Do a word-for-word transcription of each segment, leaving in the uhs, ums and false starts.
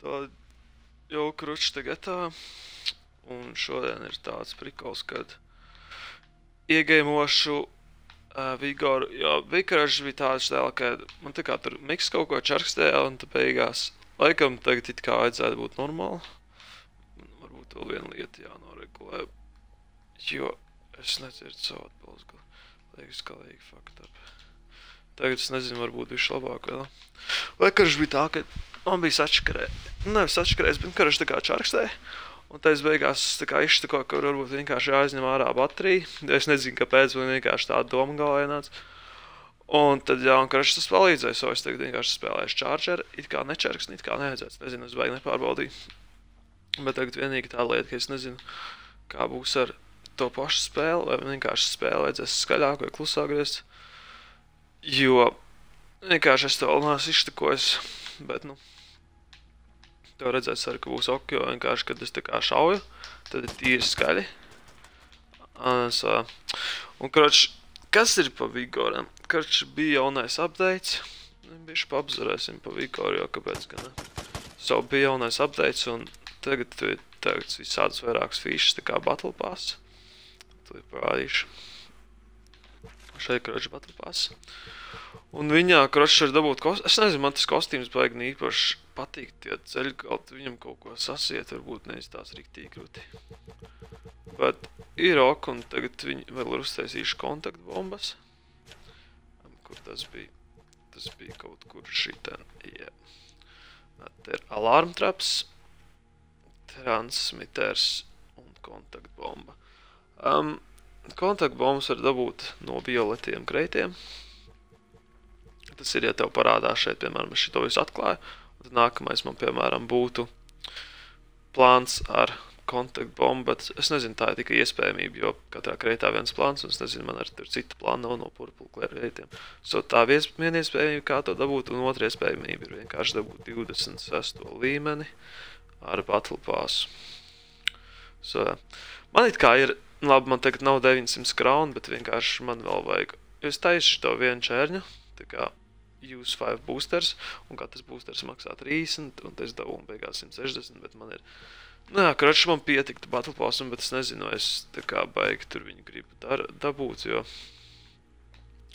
Tā jau kručs tagad tā. Un šodien ir tāds prikals, kad iegaimošu uh, Vigoru, jo Vigorš bija tāds dēļ, ka man tā kā tur miks kaut ko čarkstēja un tā beigās laikam tagad it kā vajadzētu būt normāli. Varbūt vēl viena lieta jānoregulē, jo es nedzirdu savu atbalstu. Liekas, ka lieki fucked up. Tagad es nezinu, varbūt bišķi labāk vēl. Vai karš bija tā, ka man bija sačakarē. Nevis sačakarējis, bet karš tā kā čarkstēja. Un tā es beigās tā kā izštako, ka varbūt vienkārši jāizņem ārā baterija. Es nezinu, kāpēc, man vienkārši tāda doma galvā ienāca. Un tad jā, un karš tas palīdzēja, so es tagad vienkārši spēlēšu charger. It kā nečarks, it kā nevajadzēts. Nezinu, es baigi nepārbaldīju. Bet tagad vienīgi tā lieta, ka es nezinu, kā būs ar to pašu spēli, vai vienkārši spēli vajadzēs skaļāk vai klusāk griezt. Jo vienkārši es to vēl neesmu izštakojis, bet nu, to redzēs arī, ka būs ok, jo vienkārši, kad es tā kā šauju, tad ir tīri skaļi. Un, karoči, kas ir pa Vigoram? Karoči, bija jaunais updates, bišķi paapzarēsim pa Vigoru, jo kāpēc gan ne. So, bija jaunais updates, un tagad ir tagad visādas vairākas fīšas, tā kā Battle Pass. To ir parādīšu. Šeit, karoči, Battle Pass. Un viņā, karoči, var dabūt kostīmus. Es nezinu, man tas kostīms baigi īpaši patīk. Tie ceļgalti viņam kaut ko sasiet, varbūt nevis tās riktīgi krūti. Bet ir ok, un tagad viņi vēl ir uztaisījuši kontaktbombas. Kur tas bija? Tas bija kaut kur šitien. Jā. Te ir alarm traps, transmitters un kontaktbomba. Um, kontaktbombas var dabūt no violetiem kreitiem. Tas ir, ja tev parādās šeit, piemēram, es šito visu atklāju, un tad nākamais man, piemēram, būtu plāns ar kontaktbombu, bet es nezinu, tā ir tikai iespējamība, jo katrā kreitā viens plāns, un es nezinu, man arī tur cita plāna nav no purple kreitiem. So tā viena iespējamība, kā to dabūt, un otra iespējamība ir vienkārši dabūt divdesmit sesto līmeni ar Battle Pass. So, man it kā ir, labi, man tagad nav deviņsimt krauni, bet vienkārši man vēl vajag, jo es taisu to vienu čērņu, tā kā use five boosters, un katrs boosters maksā trīsdesmit, un es dabu beigās simt sešdesmit, bet man ir, nu jā, karoči man pietiktu Battle Passam, bet es nezinu, es tā kā baigi tur viņu gribu dar, dabūt, jo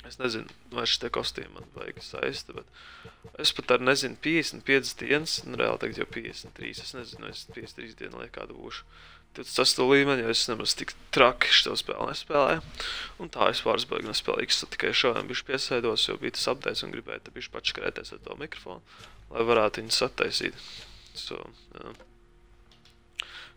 es nezinu, vai šitie kostīmi man baigi saista, bet es pat ar nezinu piecdesmit piecas dienas, un reāli tagad jau piecdesmit trīs, es nezinu, es piecdesmit trīs dienu liek kādu būšu divdesmit sesto līmeni, jo es nemaz tik traki šo spēli nespēlēju. Un tā es pāris baigi nespēlēju, es tikai šodien bišķi piesēdos, jo bija tas updates un gribēju te bišķi pačakarēties ar to mikrofonu, lai varētu viņu sataisīt. So, jā.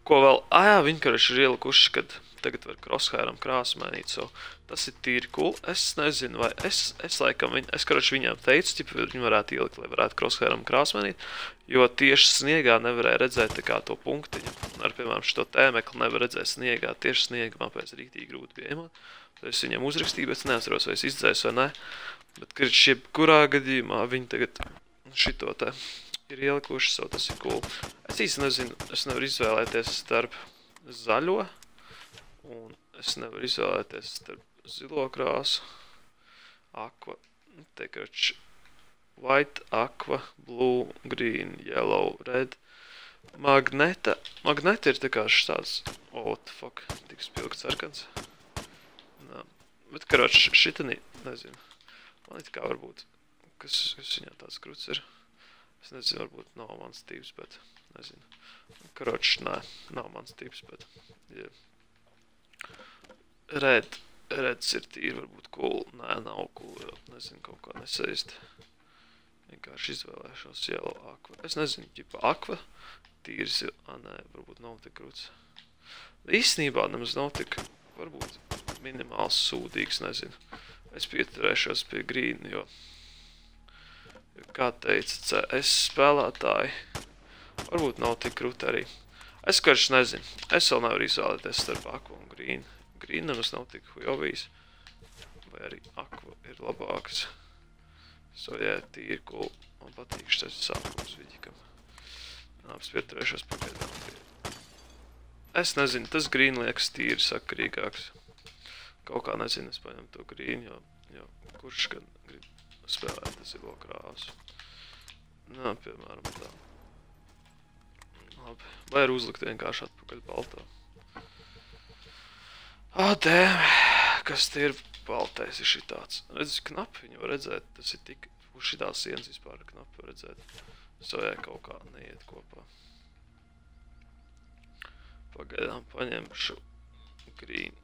Ko vēl? Ā jā, viņi karoči ir ielikuši, kad tagad var crosshairam krāsu mainīt, so tas ir tīri cool. Es nezinu, vai es, es laikam, viņ, es karoči viņām teicu, ķipa, viņi varētu ielikt, lai varētu crosshairam krāsu mainīt, jo tieši sniegā nevarēja redzēt tā kā to punktiņu. Un ar, piemēram, šito tēmekli nevar redzēt sniegā, tieši sniega man pēc rīktīgi grūti bija iemot. Tad es viņam uzrakstīju, bet es neatceros, vai es izdzēju vai ne. Bet, kad jebkurā gadījumā viņi tagad šito te ir ielikuši, so tas ir cool. Es īsti nezinu, es nevaru izvēlēties starp zaļo, un es nevaru izvēlēties starp zilo krāsu, aqua, te karoči, white, aqua, blue, green, yellow, red, magneta. Magneta ir tā kā štāds, oh, what the fuck, tik spilgts sarkans. Nā, bet karoči, šitanī, nezinu, man it kā varbūt, kas, kas viņā tāds kruts ir. Es nezinu, varbūt nav mans tips, bet nezinu. Karoči, nē, nav mans tips, bet yeah. Red, reds ir tīri, varbūt cool. Nē, nav cool, jo nezinu, kaut kā nesaist. Vienkārši izvēlēšos yellow aqua. Es nezinu, ķipa aqua, tīris ir, ā, nē, varbūt nav tik kruts. Īstenībā nemaz nav tik, varbūt minimāls sūdīgs, nezinu. Es pieturēšos pie green, jo kā teica C S spēlētāji, varbūt nav tik krūti arī. Es karš nezinu, es vēl nevaru izvēlēties starp aqua un green. Green nemaz nav tik hujovīs, vai arī aqua ir labāks. So, jā, tīri cool. Man patīk šitais sākums vidikam. Nāps pieturēšos pagaidām pie. Es nezinu, tas green liekas tīri sakarīgāks. Kaut kā nezinu, es paņem to green, jo, jo kurš gan grib spēlēt zilo krāsu. Nā, piemēram tā. Labi. Vai ir uzlikt vienkārši atpakaļ baltā. Ah, dēm. Kas tie ir baltais ir šitāds. Redz, knapi viņu var redzēt. Tas ir tik... Uz šitās sienas vispār knapi var redzēt. Sojā kaut kā neiet kopā. Pagaidām paņemšu green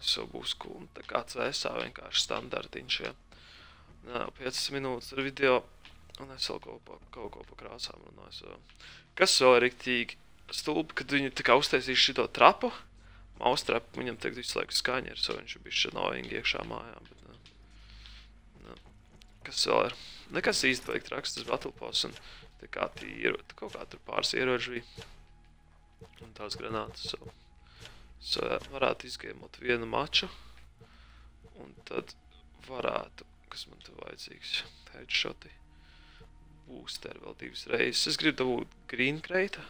sobusku un tā kā C S A vienkārši standartiņš, ja. Nā, piecas minūtes ar video un es vēl kaut, pa, kaut ko pa krāsām runāju. Kas vēl ir riktīgi stulbi, kad viņi tā kā uztaisīs šito trapu, maustrapu, viņam tagad visu laiku skaņa ir, so viņš ir bišķi novīgi iekšā mājā, bet nā. Nā. Kas vēl ir? Nekas īsti vajag traks, tas Battle Pass un tā kā tīru, kaut kā tur pāris ieroģi bija. Un tās granātas, so, so jā, varētu izgēmot vienu maču, un tad varētu, kas man te vajadzīgs, headshoti, boosteri vēl divas reizes. Es gribu dabūt green crate,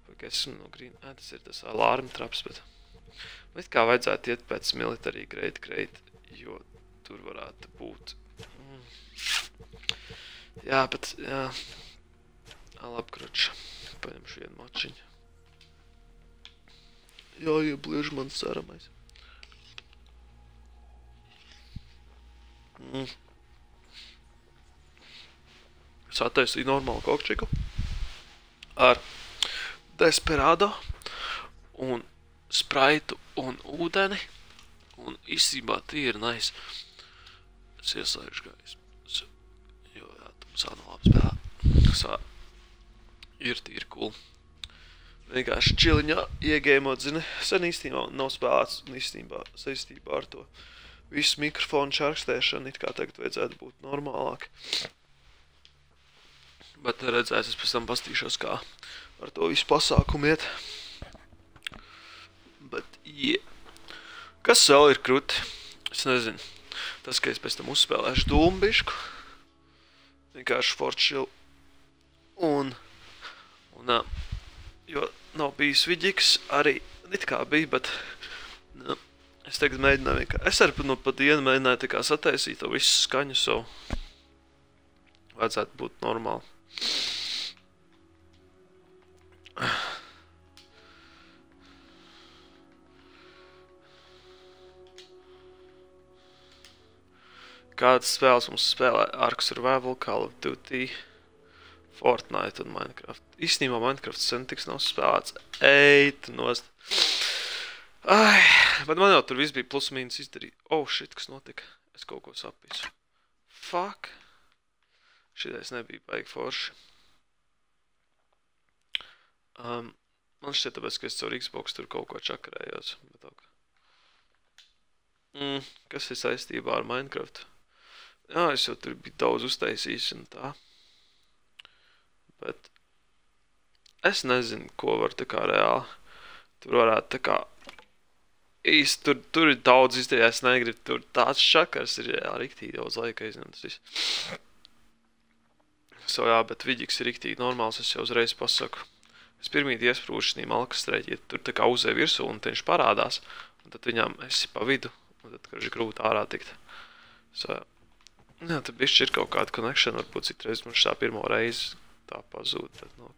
vai ka esmu no green, ē, tas ir tas alarm traps, bet it kā vajadzētu iet pēc military grade crate, jo tur varētu būt. Mm. Jā, bet, jā, alapkroč, paņemšu vienu mačiņu. Jā, iebliež man ceramais. Mm. Es attaisīju normālu kokčiku ar Desperado un spraitu un ūdeni. Un īstenībā tie ir nice. Es ieslēgšu gaismu. Jo, jā, tumsā nav labi spēlē. Sā, ir tīri cool. Vienkārši čiliņā iegēmot, zini, sen īstenībā nav spēlēts un īstenībā saistībā ar to visu mikrofonu čarkstēšanu, it kā tagad vajadzētu būt normālāk. Bet redzēs, es pēc tam pastīšos, kā ar to visu pasākumu iet. Bet, yeah. Kas vēl ir kruti? Es nezinu. Tas, ka es pēc tam uzspēlēšu dūmbišku. Vienkārši fortšilu. Un, un, nā. Jo nav bijis vidģiks, arī it kā bija, bet nu, es tagad mēģināju vienkārši. Es arī no pa dienu mēģināju tā kā sataisīt to visu skaņu, so vajadzētu būt normāli. Kādas spēles mums spēlē? Ark Survival, Call of Duty, Fortnite un Minecraft. Īstenībā Minecraft sen tiks nav spēlēts. Eit nost. Ai, bet man jau tur viss bija plus mīnus izdarīt. Oh, shit, kas notika? Es kaut ko sapīsu. Fuck. Šitais nebija baigi forši. Um, man šķiet tāpēc, ka es caur Xbox tur kaut ko čakarējos. Bet ok. Mm, kas ir saistībā ar Minecraft? Jā, es jau tur biju daudz uztaisījis un tā. Bet es nezinu, ko var tā kā reāli. Tur varētu tā kā īsti, tur, tur ir daudz izdarīt, es negribu, tur tāds čakars ir jā, riktīgi daudz laika izņemt tas viss. So jā, bet vidģiks ir riktīgi normāls, es jau uzreiz pasaku. Es pirmīt iesprūšu šī malkastrēķi, ja tur tā kā uzē virsū un viņš parādās, un tad viņām esi pa vidu, un tad, kad ir grūti ārā tikt. So jā, jā tad bišķi ir kaut kāda connection, varbūt citreiz man šā pirmo reizi tā pazūd, bet no,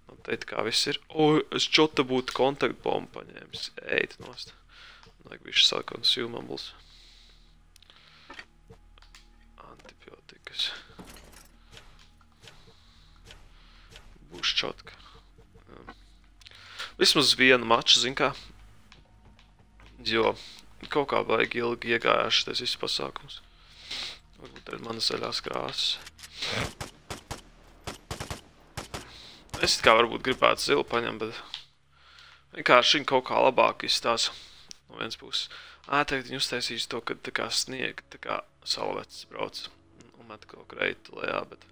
no teikt, kā viss ir. O, es čota būtu kontaktbombu paņēmis. Eit nost. Vajag bišķi sāk consumables. Antibiotikas. Būs čotka. Vismaz vienu maču, zin kā. Jo kaut kā vajag ilgi iegājāši tas viss pasākums. Varbūt ir mana zaļās krāsas. Es it kā varbūt gribētu zilu paņemt, bet vienkārši viņi kaut kā labāk izstās no vienas puses. Ā, tagad viņi uztaisīs to, kad tā kā sniega, tā kā salvecs brauc un met kaut kreitu lejā, bet...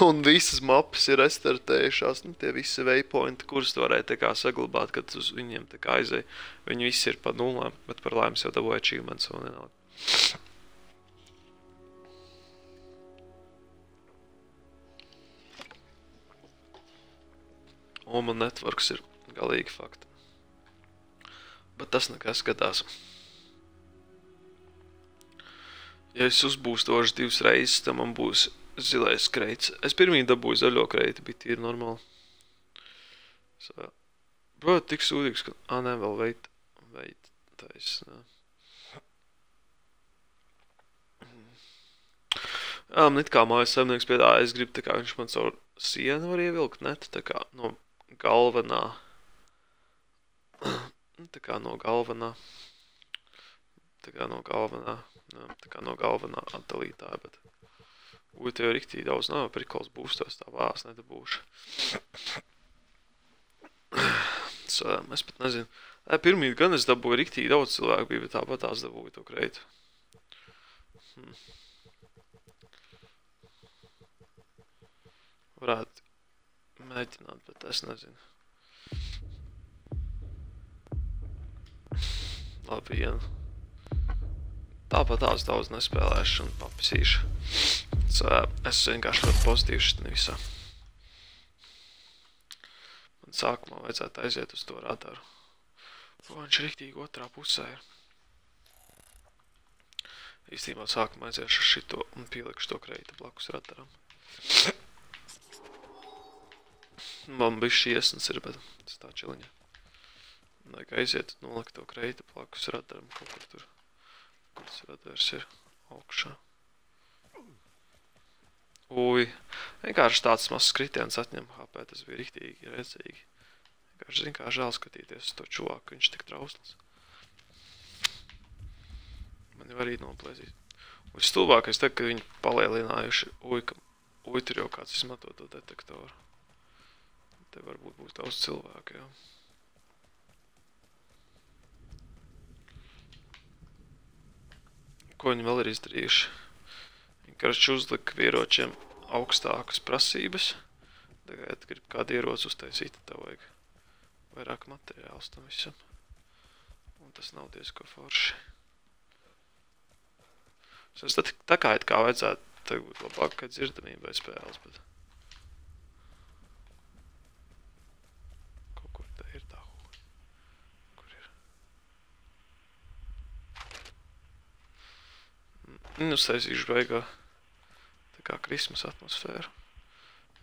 Un visas mapas ir restartējušās, nu tie visi waypointi, kurus tu varēja tā kā saglabāt, kad uz viņiem tā kā aizēja. Viņi visi ir pa nulēm, bet par laimes jau dabūja achievements un nenāk. Un man networks ir galīgi fakti. Bet tas nekas skatās. Ja es uzbūstošu divas reizes, tad man būs Zilais kreits. Es pirmī dabūju zaļo kreiti, bija tīri normāli. So, bro, tik sūdīgs, ka... Ā, nē, vēl veit. Veit. Tais, nē. Jā, man it kā mājas saimnieks piedāvā, es gribu tā kā viņš man caur sienu var ievilkt, ne? Tā kā no galvenā. Tā kā no galvenā. Tā kā no galvenā. Jā, tā kā no galvenā atdalītāja, bet... Uj, tev riktīgi daudz nav, prikols būstos, tā vās nedabūšu. So, es pat nezinu. Ē, pirmīt gan es dabūju riktīgi daudz cilvēku bija, bet tāpat tās dabūju to kreitu. Hmm. Varētu mēģināt, bet es nezinu. Labi, vienu. Tāpat tās daudz nespēlēšu un papisīšu. So, es vienkārši ļoti pozitīvs šitā visā. Man sākumā vajadzētu aiziet uz to radaru. O, viņš riktīgi otrā pusē ir. Īstībā sākumā aiziešu uz šito un pielikšu to kreita blakus radaram. Man bišķi iesnas ir, bet tas tā čiliņa. Vajag aiziet un nolikt to kreita blakus radaram kaut kur tur. Kur tas radars ir augšā. Uj, vienkārši tāds mazs kritiens atņem H P, tas bija riktīgi redzīgi. Vienkārši zin kā žēl skatīties uz to čuvāku, viņš tik trausls. Man jau arī noplēzīt. Un stulbākais te, ka viņi palielinājuši, uj, ka, uj, tur jau kāds izmanto to detektoru. Te varbūt būs daudz cilvēku, jā. Ko viņi vēl ir izdarījuši? Karš uzlika ieročiem augstākas prasības. Tagad grib kādu ieroci uztaisīt, tev vajag vairāk materiāls tam visam. Un tas nav diezko forši. Es tā, tā kā it kā vajadzētu tagad būt labākai dzirdamībai spēles, bet... Kaut kur te ir tā huļa. Kur ir? Nu, saisīšu beigā. Tā kā Krismas atmosfēra.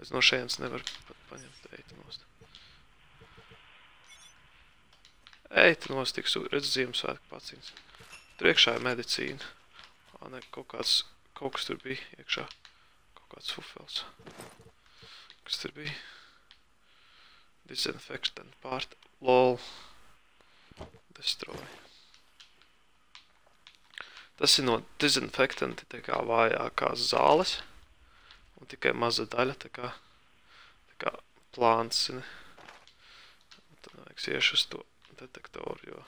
Es no šejienes nevaru pat paņemt eitu nost. Eitu nost, tik redz Ziemassvētku paciņas. Tur iekšā ir medicīna. Ā, ne, kaut kāds, kaut kas tur bija iekšā. Kaut kāds fufels. Kas tur bija? Disinfectant part. Lol. Destroy. Tas ir no disinfektanti tā kā vājākās zāles. Un tikai maza daļa tā kā, tā kā plāns. Ne? Un tad vajag iešu uz to detektoru, jo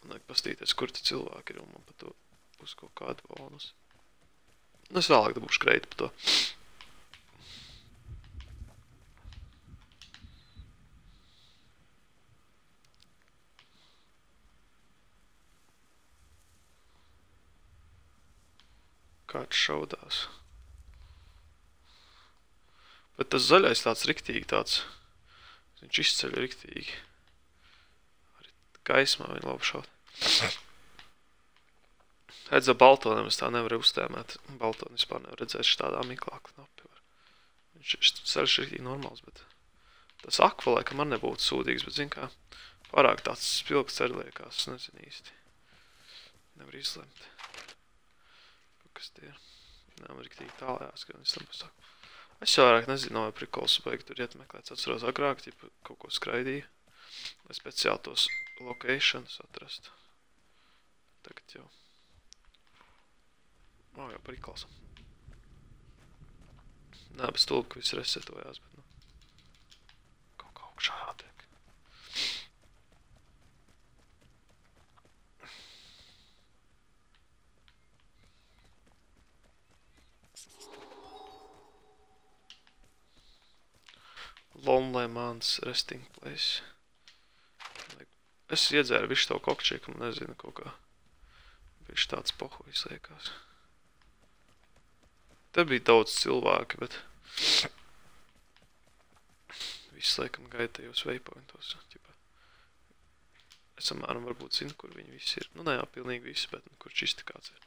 man vajag pastīties, kur te cilvēki ir un man pa to būs kaut kādu bonus. Nu, es vēlāk dabūšu kreitu pa to. Kāds šaudās. Bet tas zaļais tāds riktīgi tāds. Viņš izceļ riktīgi. Arī gaismā viņa labi šaut. Redz, ar baltoniem es tā nevaru uztēmēt. Baltoni vispār nevar redzēt štādā miklā knapi. Viņš ir ceļš riktīgi normāls, bet tas akvalē, ka man nebūtu sūdīgs, bet zin kā, pārāk tāds spilgts ceļ liekās, nezinu īsti. Nevar izlemt. Kas tie ir. Nē, man riktīgi tālējās, ka viņš tam pasaka. Es jau vairāk nezinu, vai prikols beig tur iet meklēt. Atceros agrāk, tipa kaut ko skraidīju, lai speciāli tos locations atrastu. Tagad jau. Nav jau prikols. Nē, bez tulka, ka viss resetojās, bet nu. Kaut kā augšā jātiek. Lonely Man's resting place. Es iedzēru visu to kokčieku, man nezinu kaut kā. Viņš tāds pohuis liekās. Te bija daudz cilvēki, bet viss laikam gaidījos waypointos. Es samēram varbūt zinu, kur viņi visi ir. Nu, ne jau pilnīgi visi, bet nu, kur čisti kāds ir.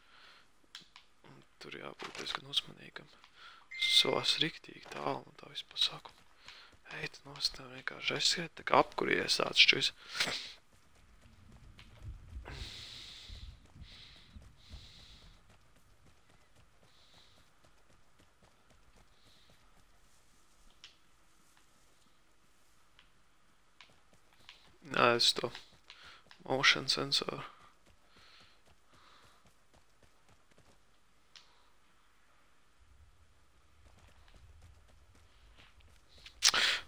Un tur jābūt diezgan uzmanīgam. Solas riktīgi tālu no tā visu pasākumu. Eit nost, tev vienkārši aizskriet, tā kā apkuries tāds šķis. Nē, es to motion sensoru.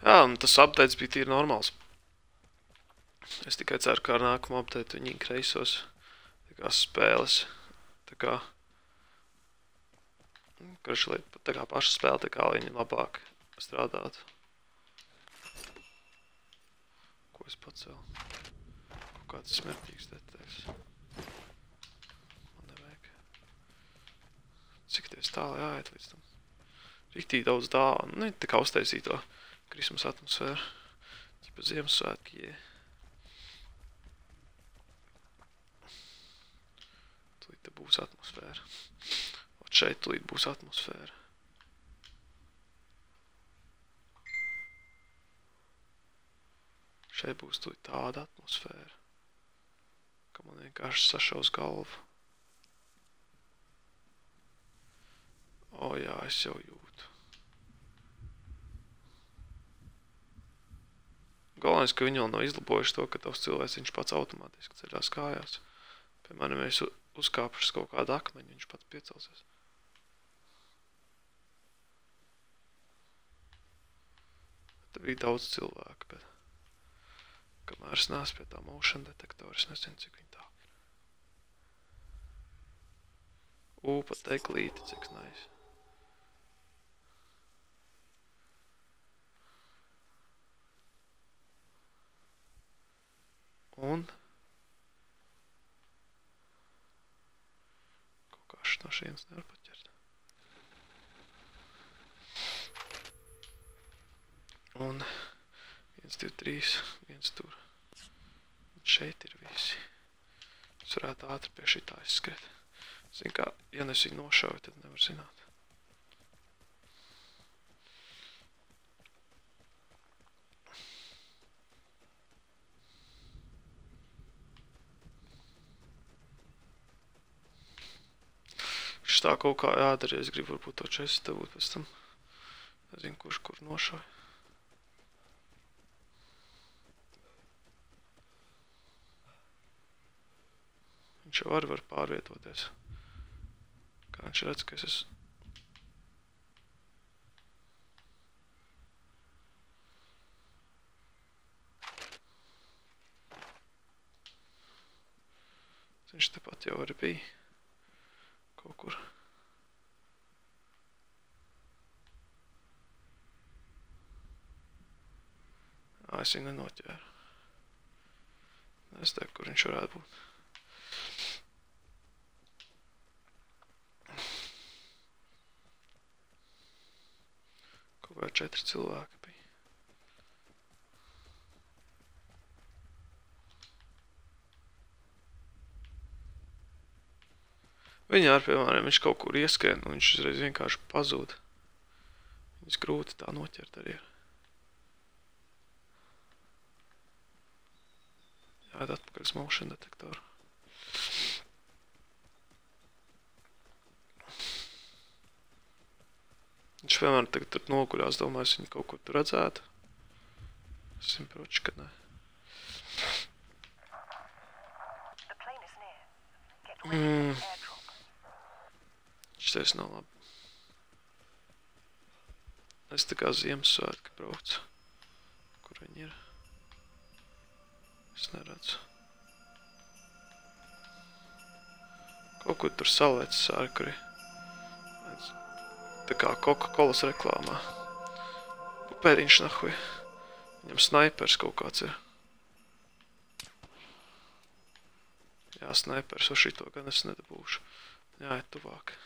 Jā, un tas updates bija tīri normāls. Es tikai ceru, ka ar nākamo update viņi kreisos tā kā spēles. Tā kā karši, tā kā paša spēle, tā kā viņi labāk strādātu. Ko es pacēlu? Kaut kāds smertīgs deteks. Man nevajag. Cik ties tāli jāiet līdz tam? Riktīgi daudz dāvanu. Nu, tā kā uztaisīja to Christmas atmosfēru. Ķipa Ziemassvētki, jē. Tūlīt te būs atmosfēra. Ot šeit tūlīt būs atmosfēra. Šeit būs tūlīt tāda atmosfēra, ka man vienkārši sašaus galvu. O jā, es jau jūtu. Galvenais, ka viņi vēl nav izlabojuši to, ka tavs cilvēks viņš pats automātiski ceļās kājās. Piemēram, ja es uzkāpušas kaut kādu akmeņu, viņš pats piecelsies. Te bija daudz cilvēku, bet kamēr es neesmu pie tā motion detektora, es nezinu, cik viņi tā ir. Ū, pat teklīti, cik nice. Un kaut kā no šienes nevar paķert. Un viens, divi, trīs, viens tur. Un šeit ir visi. Es varētu ātri pie šitā izskriet. Zin kā, ja es viņu nošauju, tad nevar zināt. Tā kaut kā jādara, es gribu varbūt to česu dabūt pēc tam. Nezinu, kurš kur nošauj. Viņš jau arī var pārvietoties. Kā viņš redz, ka es esmu. Viņš tepat jau arī bija. Kaut kur. Ā, es viņu nenoķēru. Es teiktu, kur viņš varētu būt. Kaut kā četri cilvēki bija. Viņā ar, piemēram, viņš kaut kur ieskrien, un viņš uzreiz vienkārši pazūd. Viņas grūti tā noķert arī ir. Jāiet atpakaļ uz motion detektoru. Viņš, piemēram, tagad tur noguļās, domāju, es viņu kaut kur tur redzētu. Es viņu proči, ka ne. Mm. Šitais nav labi. Es tā kā Ziemassvētki braucu. Kur viņi ir? Es neredzu. Kaut kur tur salēcis ārkuri. Tā kā Coca-Colas reklāmā. Pēriņš nahuj. Viņam snaipers kaut kāds ir. Jā, snaipers, o šito gan es nedabūšu. Jāiet tuvāk.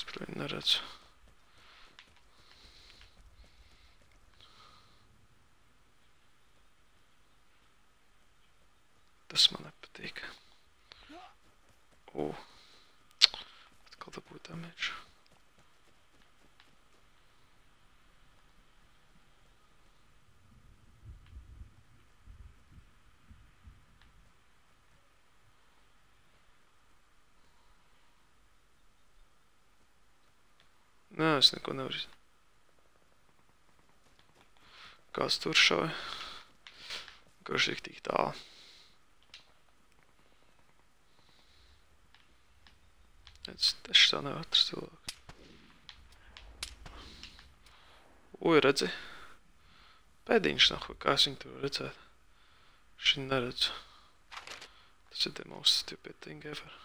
Es par viņu neredzu. Tas man nepatīk. O. Atkal dabūt damage. Nē, es neko nevaru. Kāds tur šauja. Kurš ir tik tālu. Es taču tā nevar atrast cilvēku. Uj, redzi. Pēdiņš nav, kā es viņu tur redzētu. Es viņu neredzu. Tas ir the most stupid thing ever.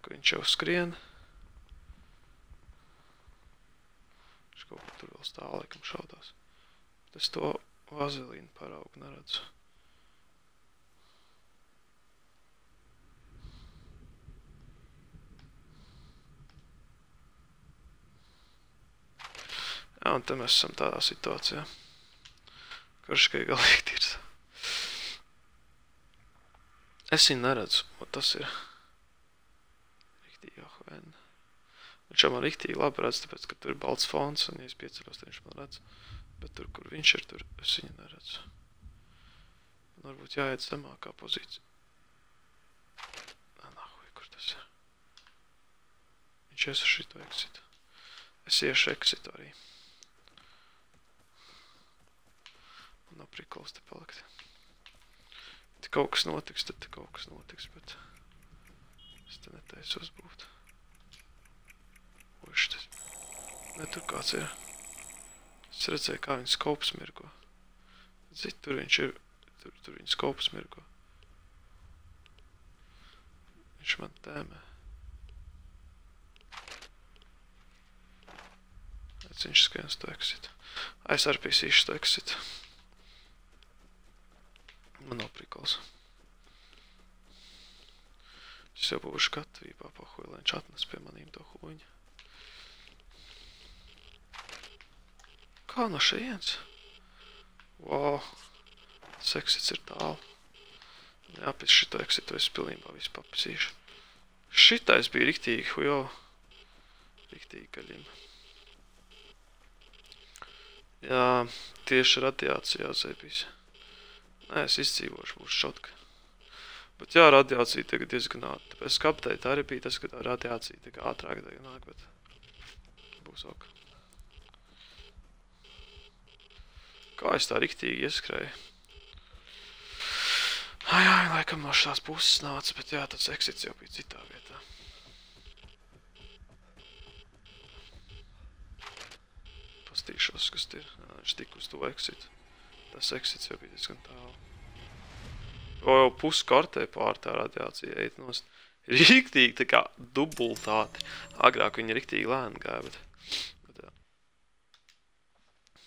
Ka viņš jau skrien. Viņš kaut kur tur vēl stāv, laikam šaudās. Bet es to vazelīnu paraugu neredzu. Jā, un te mēs esam tādā situācijā. Karš, ka ir galīgi tīrs. Es viņu neredzu, un tas ir riktīgi ahvēni. Viņš jau man riktīgi labi redz, tāpēc, ka tur ir balts fons, un ja es pieceļos, tad viņš man redz. Bet tur, kur viņš ir, tur es viņu neredzu. Man varbūt jāiet zemākā pozīcija. Nā, nahuj, kur tas ir? Viņš ies ar šito exitu. Es iešu exitu arī. Man nav prikols te palikt. Te kaut kas notiks, tad te kaut kas notiks, bet es te netaisos būt. Uš, tas... Ne, tur kāds ir. Es redzēju, kā viņa skops mirgo. Zit, tur viņš ir, tur, tur viņa skops mirgo. Viņš man tēmē. Redz, viņš skrien uz to exitu. Es arī pīsīšu to exitu. Man nav prikols. Es jau būšu gatavībā pahuj, lai viņš atnes pie manīm to huņu. Kā no šajienes? Wow. Tas exits ir tālu. Jāpēc šito exitu es pilnībā visu papisīšu. Šitais bija riktīgi, hujo. Riktīgi gaļim. Jā, tieši radiācijā zēbīs. Nē, es izdzīvošu, būs šotka. Bet jā, radiācija tagad diezgan ātri. Tāpēc kapteit arī bija tas, ka tā radiācija tik ātrāk nāk, bet būs ok. Kā es tā riktīgi ieskrēju? Ai, ai, laikam no šās puses nāca, bet jā, tāds exits jau bija citā vietā. Pastīšos, kas ir. Viņš tik uz to exitu. Tas exits jau bija diezgan tālu. O, jau pusi kartē pār tā radiācija eit nost. Riktīgi tā kā dubultāti. Agrāk viņa riktīgi lēni gāja, bet... bet jā.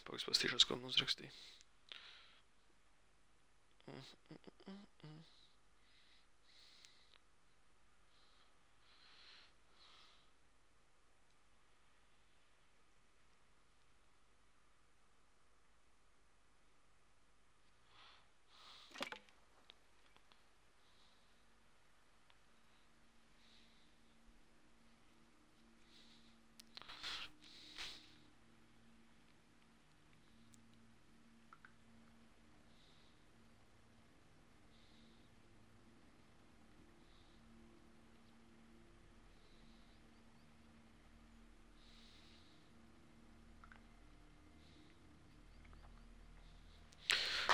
Pagaidz pastīšos, ko man uzrakstīja. Mm, mm, mm, mm.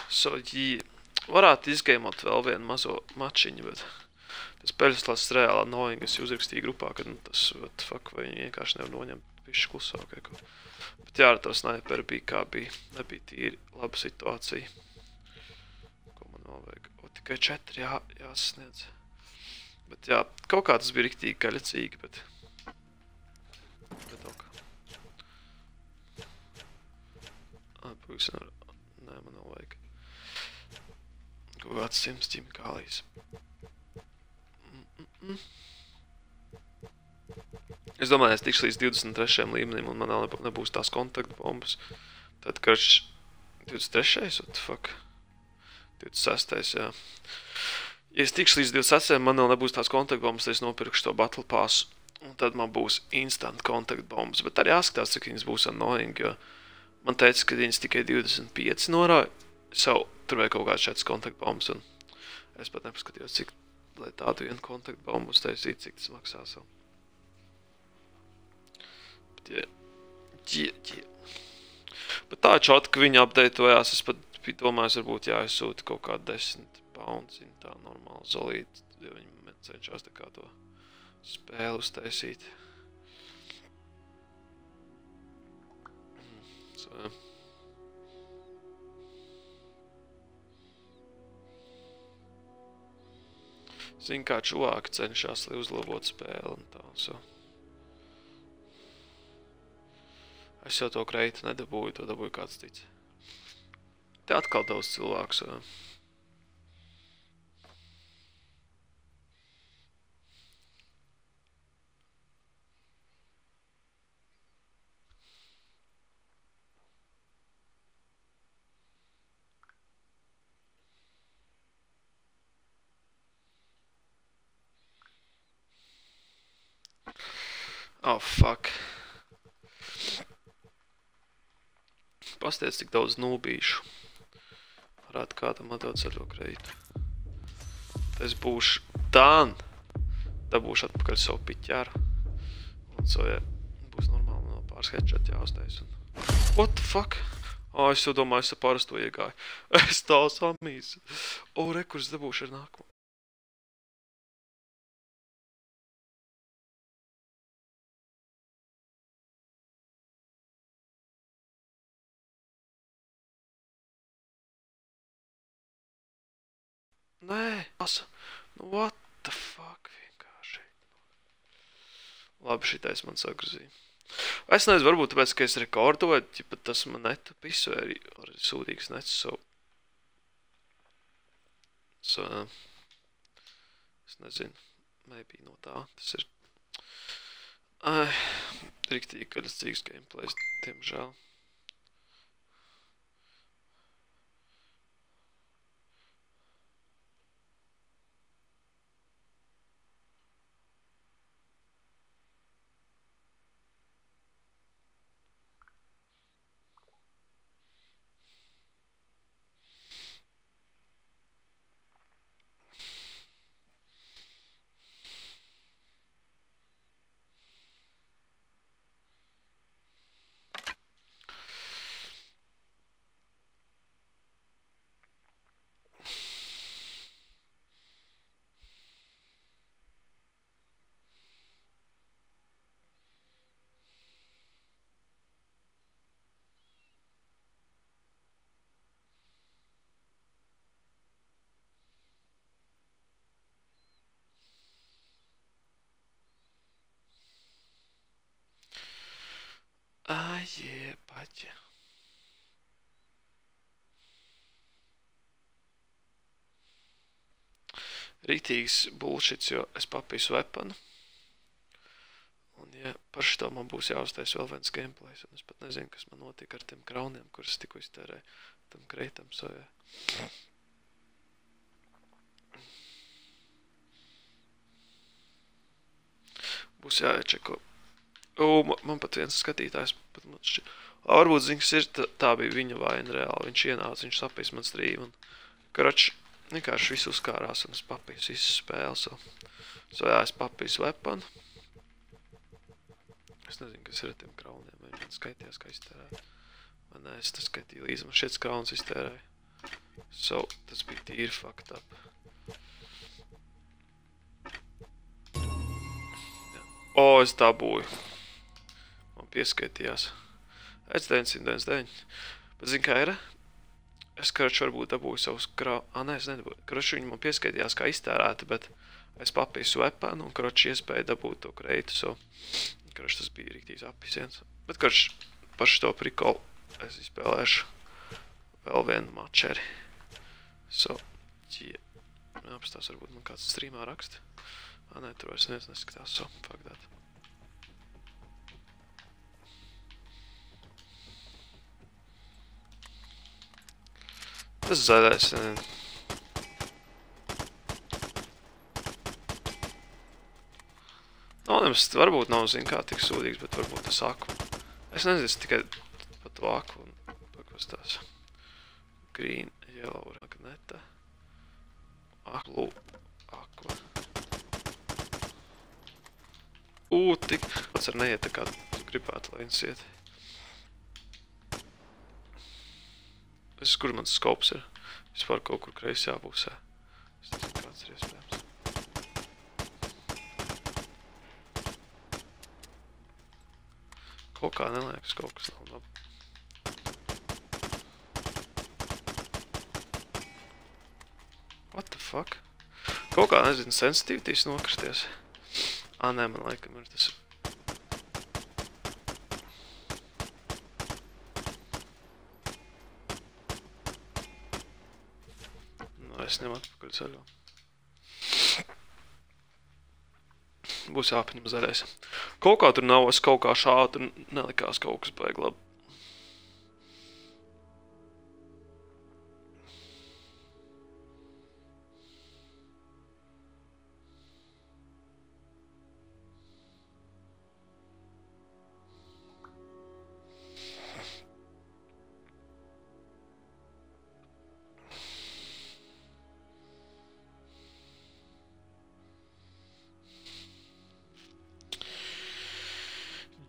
So, jī, varētu izgeimot vēl vienu mazo mačiņu, bet tas peļslās reāli annoying, es uzrakstīju grupā, kad nu, tas, what fuck, vai viņi vienkārši nevar noņemt pišķi klusāk vai ko. Bet jā, ar to sniperi bija kā bija, nebija tīri laba situācija. Ko man vēl vajag? O, tikai četri jā, jāsasniedz. Bet jā, kaut kā tas bija riktīgi gaļacīgi, bet... Bet ok. Ai, pagaidzi, nevar... Nē, man vēl vajag. Kaut kāds simts ķimikālijas. Mm -mm -mm. Es domāju, es tikšu līdz divdesmit trešajam līmenim, un man vēl nebūs tās kontaktbombas. Tad, karš divdesmit trešais, what the fuck? divdesmit sestais, jā. Ja es tikšu līdz divdesmit sestajam, man vēl nebūs tās kontaktbombas, tad es nopirkšu to Battle Passu. Un tad man būs instant kontaktbombas. Bet arī jāskatās, cik viņas būs annoying, jo man teica, ka viņas tikai divdesmit pieci norāja. Savu, tur vajag kaut kāds šāds kontaktbombas, un es pat nepaskatījos, cik, lai tādu vienu kontaktbombu uztaisīt, cik tas maksā savu. Bet, jā, jā, jā. Bet tā čot, ka viņi updateojās, es pat biju domājis, varbūt jāizsūta kaut kā desmit pounds, tā normāli zolīt, jo viņi cenšās tā kā to spēli uztaisīt. So, jā. Zin, kā čuvāki cenšās, lai uzlabot spēli un tā, so. Es jau to kreitu nedabūju, to dabūju kāds tic. Te atkal daudz cilvēku, so. Oh, fuck. Pastiec, tik daudz nūbīšu. Varētu kādam atdot ar to kreitu. Es būšu dan. Dabūšu atpakaļ savu piķēru. Un so, jā, būs normāli no pāris headshot jāuztais. Un... What the fuck? Oh, es jau domāju, es ar parasto iegāju. Es tā samīs. O, oh, rekurs dabūšu ar nākamo. Nē, asa. Nu, what the fuck, vienkārši. Labi, šitais man sagrozīja. Es nezinu, varbūt tāpēc, ka es rekordoju, ja tas man netu pisu, arī ar sūdīgs nets, so... So, es nezinu, maybe no tā, tas ir... Ai, riktīgi kaļastīgs gameplays, tiemžēl. Ai, jebaļ. Rītīgs bullshits, jo es papīsu weaponu. Un, ja par šito man būs jāuztais vēl viens gameplays, un es pat nezinu, kas man notika ar tiem krauniem, kuras tikko iztērēju tam kreitam, so, jā. Būs jāiečeko. O, man pat viens skatītājs, pat man šķi... O, varbūt zins ir, tā, tā bija viņa vaina reāli, viņš ienāca, viņš sapīs man strīmu, un, karač, vienkārši visu uzkārās, un es papīsu visu spēli, so, so, jā, es papīsu weaponu. Es nezinu, kas ir ar tiem krauniem, vai man skaitījās, kā iztērēt. Vai nē, es tas skaitīju līdzi, man šiets krauns iztērēja. So, tas bija tīri fucked up. O, es dabūju. Man pieskaitījās. Es deviņsimt deviņdesmit deviņi. Bet zin kā ir? Es, karoči, varbūt dabūju savus krau... Ā, nē, es nedabūju. Karoči, viņi man pieskaitījās kā iztērēti, bet es papīsu weaponu un, karoči, iespēju dabūt to kreitu, so... Karoči, tas bija rīktīs apisiens. Bet, karoči, par šito prikolu es izspēlēšu vēl vienu mačeri. So, yeah. Apstās, varbūt man kāds streamā raksta. Ā, nē, tur vairs neviens neskatās, so, fuck that. Tas zaļais. Anonymous varbūt nav, zin kā, tik sūdīgs, bet varbūt tas aku. Es nezinu, es tikai pat to aku un pakustās. Green, yellow, magneta. Aku, aku. Ū, tik. Pats ar neiet tā kā tu gribētu, lai viņas iet. Es, kur mans skops ir? Vispār kaut kur kreisajā pusē. Es nezinu, kāds ir iespējams. Kaut kā neliekas, kaut kas nav labi. What the fuck? Kaut kā, nezinu, sensitivities nokristies. Ā, nē, man laikam ir tas... No, es ņem atpakaļ zaļo. Būs jāpaņem zaļais. Kaut kā tur nav, es kaut kā šādu, tur nelikās kaut kas baigi labi.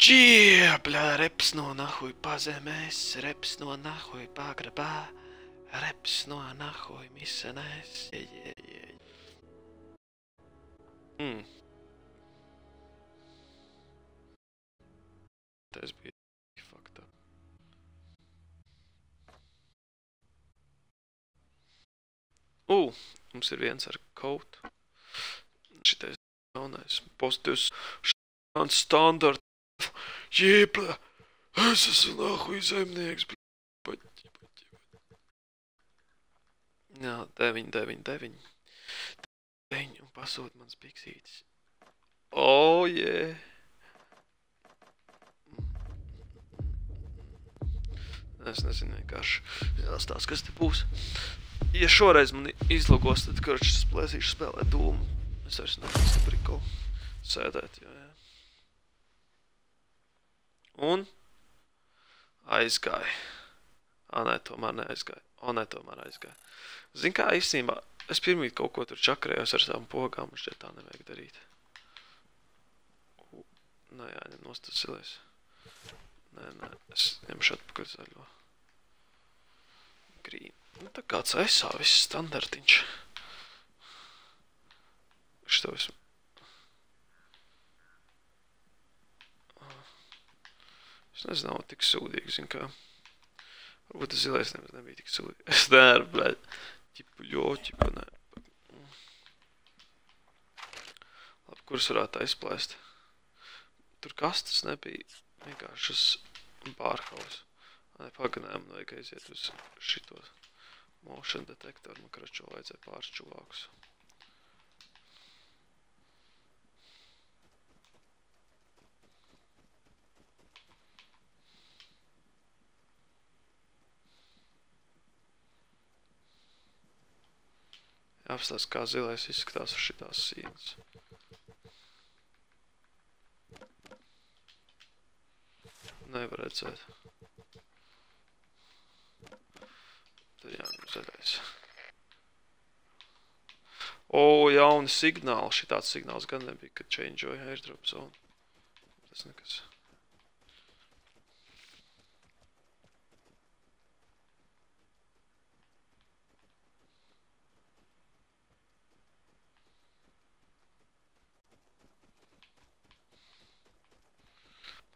Džie, bļā, reps no nahuj pazemēs, reps no nahuj pagrabā, reps no nahuj misenēs, je, je, je. Hmm. Tas bija fucked up. Ū, mums ir viens ar kaut. Šitais jaunais pozitīvs šāds standart. Jē, blē, es esmu nahuj zemnieks, blē, paķi, paķi, paķi. Jā, deviņi, deviņi, deviņi. Deviņi un pasūt mans piksītis. O, jē. Es nezinu vienkārši. Jāstās, kas te būs. Ja šoreiz man izlogos, tad karš es plēsīšu spēlēt dūmu. Es vairs nekāds te prikolu sēdēt, jā, jā. Un aizgāja. Ā, nē, tomēr neaizgāja. O, nē, tomēr aizgāja. Zin kā, īstenībā, es pirmīt kaut ko tur čakarējos ar savām pogām, un šķiet tā nevajag darīt. Nē, jāņem nost tas zilais. Nē, nē, es ņemšu atpakaļ zaļo. Green. Nu, tā kāds aizsā viss standartiņš. Šito esmu. Es nezinu, nav tik sūdīgi, zin kā. Varbūt tas zilais nemaz nebija tik sūdīgi. Es nevaru, bļaļ. Ķipu ļo, ķipu, nē. Labi, kurus varētu aizplēst? Tur kastas nebija. Vienkārši uz bārhaus. Nē, paganēm vajag aiziet uz šitos motion detektoru. Man kračo vajadzēja pāris čuvākus. Jāapstās, kā zilais izskatās uz šitās sīnas. Nevar redzēt. Tad jāņem zaļais. O, jauni signāli. Šitāds signāls gan nebija, kad changeoja airdrop zone. Tas nekas.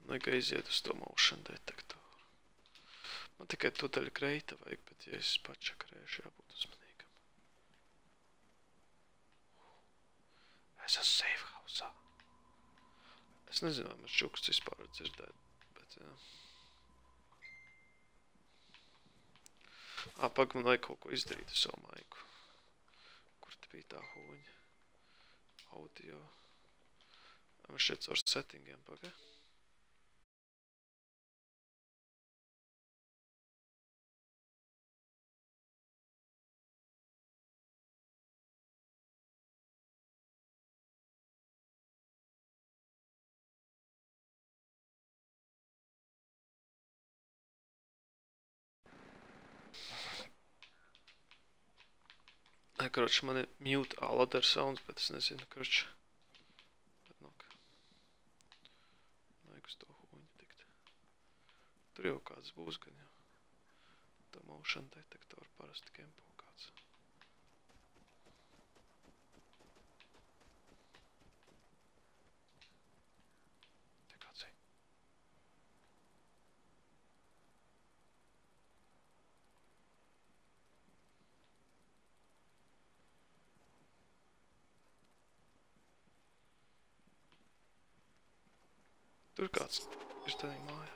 Vajag aiziet uz to motion detektoru. Man tikai tudaļa greita vajag, bet ja es pačakarēšu, jābūt uzmanīgam. Es esmu safe house'ā. Es nezinu, vai man šķuksts vispār var dzirdēt, bet jā. Ā, pag, man vajag kaut ko izdarīt ar savu maiku. Kur te bija tā huņa? Audio. Man šeit caur settingiem paga. Nē, karoči, man ir mute all other sounds, bet es nezinu, karoči. Bet nok. Vajag uz to huņu tikt. Tur jau kāds būs gan jau. Tā motion detektoru parasti kempo kāds. Te kāds ej. Tur kāds ir tādā mājā.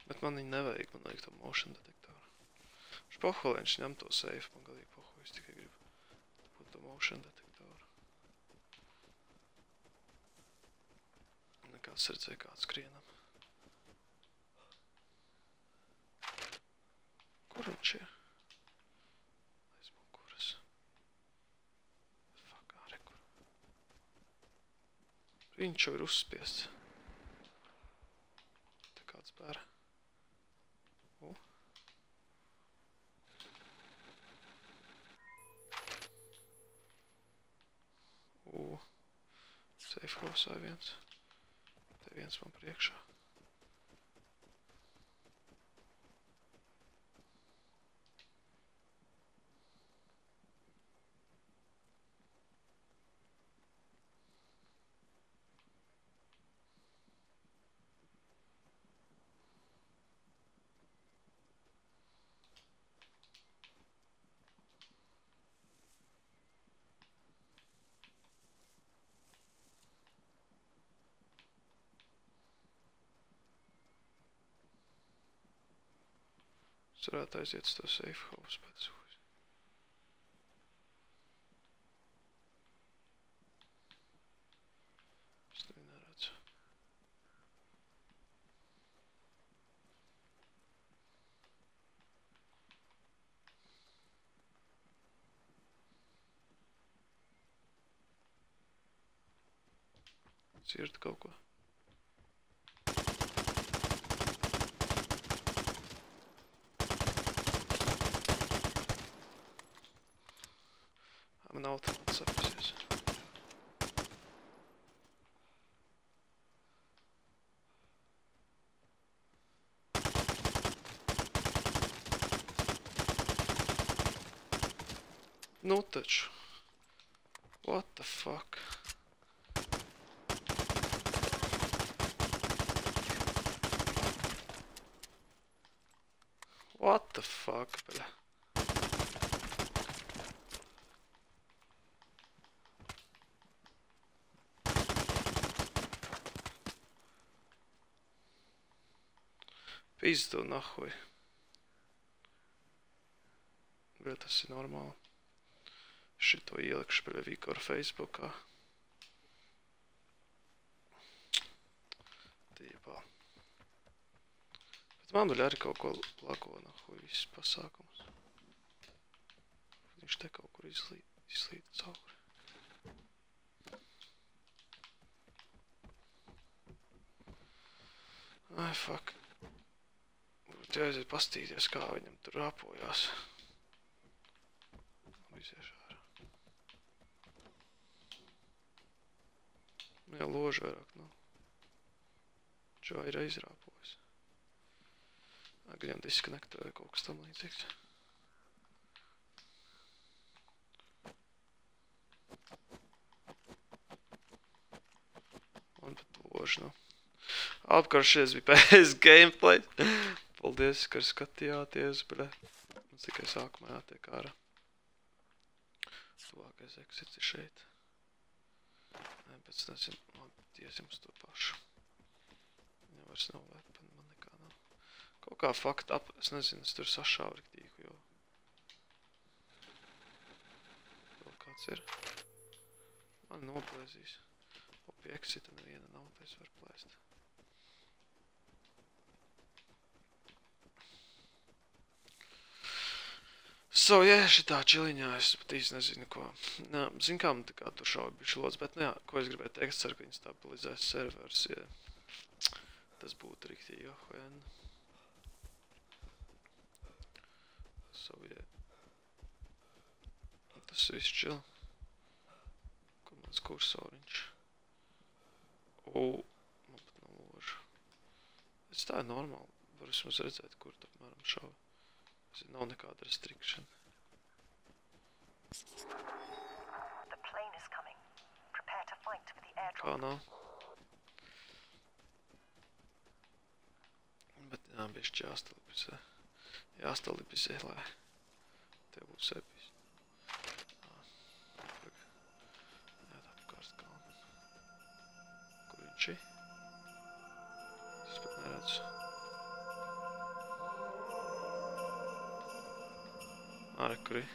Bet man viņu nevajag, man vajag to motion detektoru. Špoho, lai viņš ņem to safe, man galīgi poho, es tikai gribu būt to motion detektoru. Nekāds redzēja, kāds skrienam. Kur viņš ir? Aizmukuras. Fuck, ārē, kur. Viņš jau ir uzspiests. Te kāds bēra. U. U. Safe house vai viens. Te viens man priekšā. Es varētu aiziet uz to safe house pēc uz. Es tevi neredzu. Cirta kaut ko. Man automāts sapasies. Nu taču. What the fuck? What the fuck, bļa? Pizdu nahuj. Bet tas ir normāli. Šito ielikšu pie Vikora Facebookā. Tīpā. Bet man vēl arī kaut ko lako nahuj viss pasākums. Viņš te kaut kur izlīt, izlīt cauri. Ai, fuck. Būtu jāaiziet pastīties, kā viņam tur rāpojās. Iziešu ārā. Jā, ložu vairāk nav. Čau ir aizrāpojis. Gan disconnecta vai kaut kas tam līdzīgs. Man pat ložu nav. Apkar šies bija pēc gameplay. Paldies, ka skatījāties, bļa. Mums tikai sākumā jātiek ārā. Tuvākais exits ir šeit. Nē, pēc nezinu, labi, tiesim uz to pašu. Viņam vairs nav weapon, man nekā nav. Kaut kā fucked up, es nezinu, es tur sašāvu riktīku, jo... Vēl kāds ir. Man noplēzīs. O, pie exita neviena nav, tā es varu plēst. So, jā, šitā čiliņā es pat īsti nezinu, ko. Nā, zin kā man tā kā tur šauja bišķi lods, bet, nu jā, ko es gribēju teikt, es ceru, ka viņi stabilizēs servers, ja tas būtu riktīgi johojen. So, jā. Tas viss čil. Kur mans kursoriņš? O, man pat nav loža. Es tā ir normāli. Var vismaz redzēt, kur tā, apmēram, šauja. Es nav nekāda restriction. The plane is coming. Prepare to fight for the airdrop. Kā nav? Bet jā, bišķi jāstalibizē. Jāstalibizē, lai tev būs epis. Jā, tā apkārt kalnu. Kur viņš ir? Es pat neredzu. Ārē, kur ir?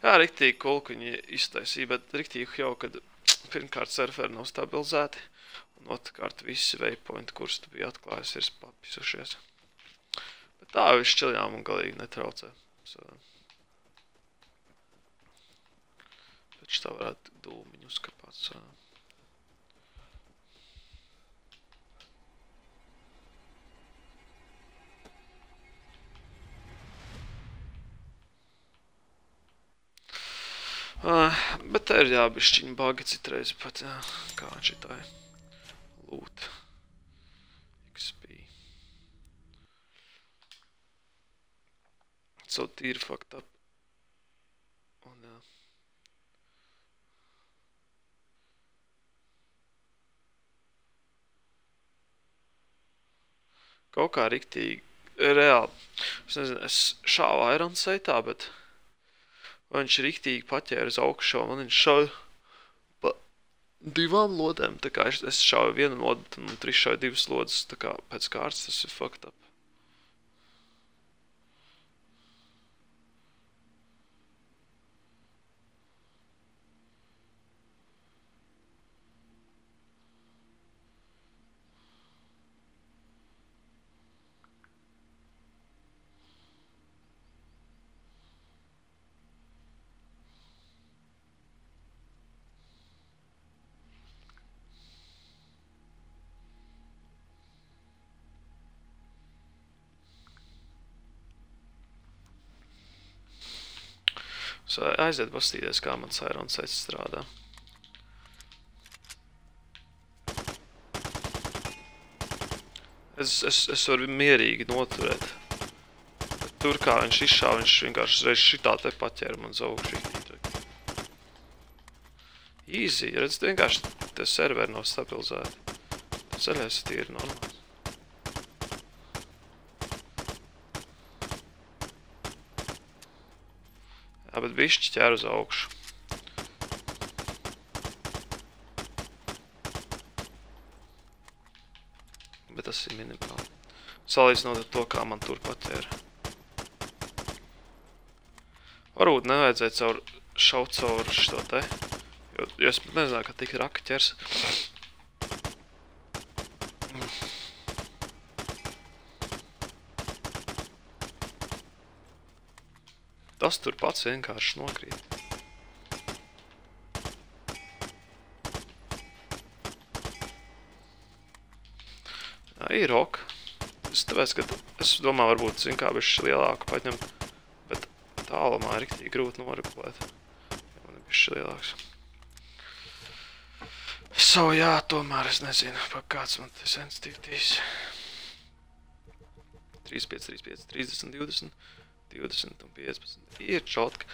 Jā, riktīgi cool, ka viņi iztaisīja, bet riktīgi jau, kad pirmkārt serveri nav stabilizēti, un otrkārt visi waypointi, kurus tu biji atklājis, ir papisušies. Bet tā viss čiljām un galīgi netraucē. So. Pēc tā varētu dūmiņu uzkapāt. So. Uh, bet te ir jā, bišķiņi bagi citreiz pat, jā, kā šitai loot X P. So tīri fucked up. Un jā. Kaut kā riktīgi, reāli, es nezinu, es šāvu Iron Sightā, bet viņš riktīgi paķēra uz augšu, un viņš šauja pa divām lodēm, tā kā es, es šauju vienu lodu, un trīs šauju divas lodas, tā kā pēc kārtas tas ir fucked up. So, aiziet pastīties, kā mans Iron Sights strādā. Es, es, es varu mierīgi noturēt. Bet tur, kā viņš izšāva, viņš vienkārši reiz šitā te paķēra man uz augšu. Easy, redz, vienkārši te serveri nav stabilizēti. Ceļais tīri normāli. Jā, bet bišķi ķēr uz augšu. Bet tas ir minimāli. Salīdzinot ar to, kā man tur paķēra. Varbūt nevajadzēja caur šaut caur šito te. Jo, jo es nezināju, ka tik raka ķers. Tas tur pats vienkārši nokrīt. Jā, ir ok. Es tāpēc, ka es domāju, varbūt, zin kā, bišķi lielāku paņemt, bet tālumā ir riktīgi grūti noregulēt. Ja man ir bišķi lielāks. So, jā, tomēr es nezinu, pa kāds man te sensitivities. trīsdesmit pieci, trīsdesmit pieci, trīsdesmit, divdesmit. divdesmit un piecpadsmit ir čotka,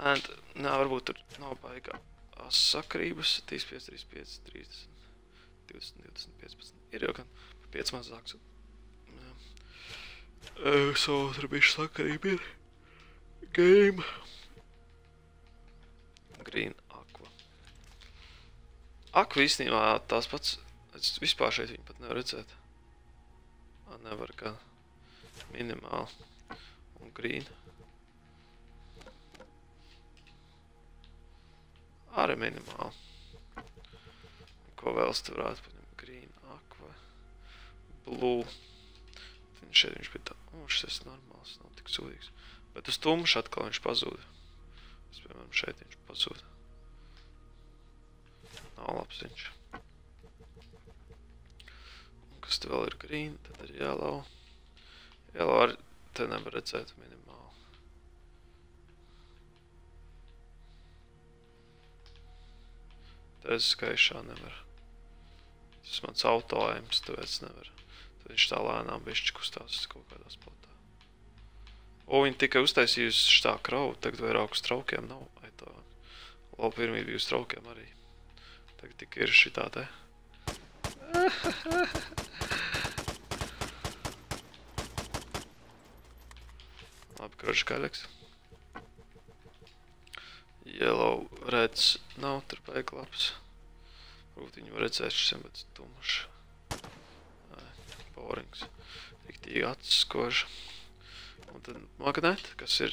and, nā, varbūt tur nav baigā sakarības, trīsdesmit pieci, trīsdesmit pieci, trīsdesmit, divdesmit, divdesmit, piecpadsmit, ir jau gan pieci mazāks. Uh, so, tur bišķi sakarība ir. Game. Green aqua. Aqua īstenībā tās pats, es vispār šeit viņu pat nevar redzēt. Ā, nevar gan minimāli. Un green. Arī minimāli. Ko vēl es te varētu paņemt? Green, aqua, blue. Šeit viņš bija tā, o, šis ir normāls, nav tik sūdīgs. Bet uz tumšu atkal viņš pazūda. Es, piemēram, šeit viņš pazūda. Nav labs viņš. Un kas te vēl ir green, tad ir yellow. Yellow arī te nevar redzēt minimāli. Te es skaišā nevar. Tas mans autoaims, tāpēc nevar. Tad viņš tā lēnām bišķi kustās kaut kādā spotā. O, viņi tikai uztaisījusi šitā kravu, tagad vairāk uz traukiem nav. Ai tā, labi pirmī bija uz traukiem arī. Tagad tikai ir šitā te. Labi, kroči kaļaks. Yellow, reds, nav tur baigi labs. Varbūt viņu var redzēt šim, bet tumšs. Borings. Riktīgi acis koža. Un tad magneti, kas ir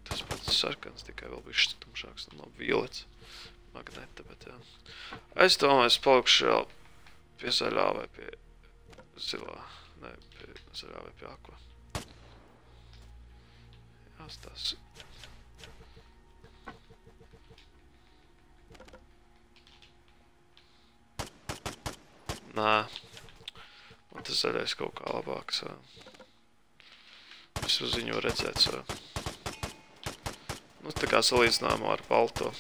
tas pats sarkans, tikai vēl bišķi tumšāks, un labi violets magneta, bet jā. Es domāju, es palikšu vēl pie zaļā vai pie zilā, ne, pie zaļā vai pie aqua. Jāstās. Nē, man tas zaļais kaut kā labāks. Es uz viņu redzēt. Nu, tā kā salīdzinājumā ar balto.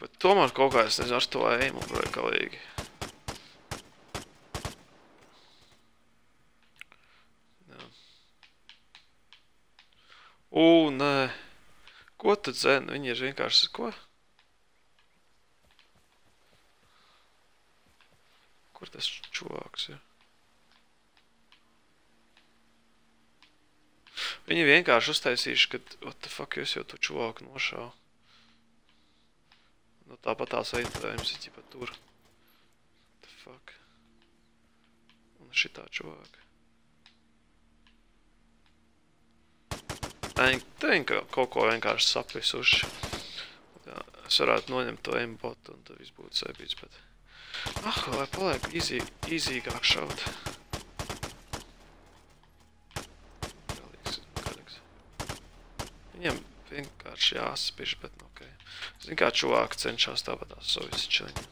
Bet tomēr kaut kā es nezinu ar to eimu galīgi. Jā. Ū, nē. Ko tu dzeni? Viņi ir vienkārši, ko? Kur tas čuvāks ir? Viņi vienkārši uztaisījuši, ka, what the fuck, jūs jau to čuvāku nošāvu. Nu, tāpat tās veidojums ir ķipa tur. What the fuck. Un šitā čuvāka. Te viņi kaut ko vienkārši sapisuši. Es varētu noņemt to aimbotu un tad viss būtu saibīts, bet... Ah, lai paliek easy, easīgāk šaut. Galīgs, galīgs. Viņiem vienkārši jāsaspiš, bet nu ok. Zin kā čuvāki cenšās tāpatās savu visi čeliņi.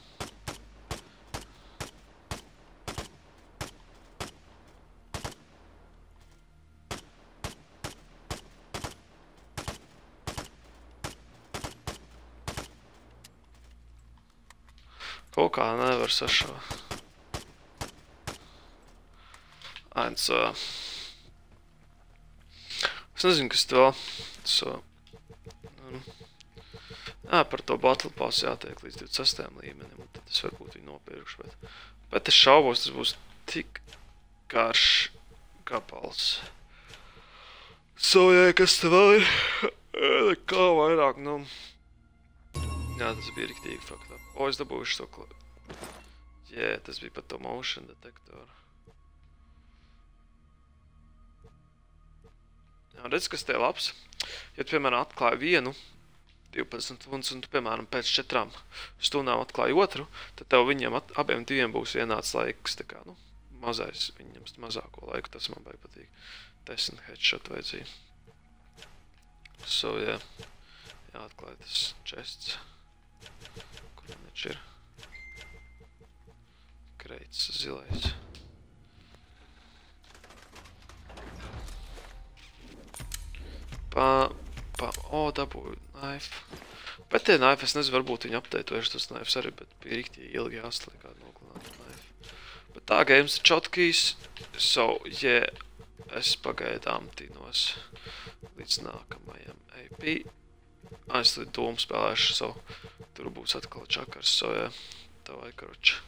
Kaut kā nevar sašā. Ains, uh, es nezinu, kas te vēl. So, um, jā, par to battle pass jātiek līdz divdesmit sestajam līmenim, un tad es varbūt viņu nopirkšu, bet, bet es šaubos, tas būs tik garš gabals. So, jā, kas te vēl ir? Kā vairāk, nu... Jā, tas bija riktīgi fucked up. O, es dabūšu to kla... Jē, tas bija pat to motion detektoru. Jā, redz, kas te ir labs. Ja tu, piemēram, atklāji vienu divpadsmit stundas, un tu, piemēram, pēc četrām stundām atklāji otru, tad tev viņiem at, abiem diviem būs vienāds laiks, tā kā, nu, mazais, viņiem mazāko laiku, tas man baigi patīk. Desmit headshot vajadzīgi. So, jā, jāatklāj tas chests. Kur man viņš ir? Kreits, zilais. Pa, pa, o, dabūju knife. Bet tie knife, es nezinu, varbūt viņi apdeitojuši tos knifes arī, bet bija riktīgi ilgi jāsliek kādu noklinātu knife. Bet tā games ir čotkīs, so, yeah, es pagaidām tīnos līdz nākamajam A P. Es līdz dūmu spēlēšu, so, tur būs atkal čakars, so, jā, tā vai karoči.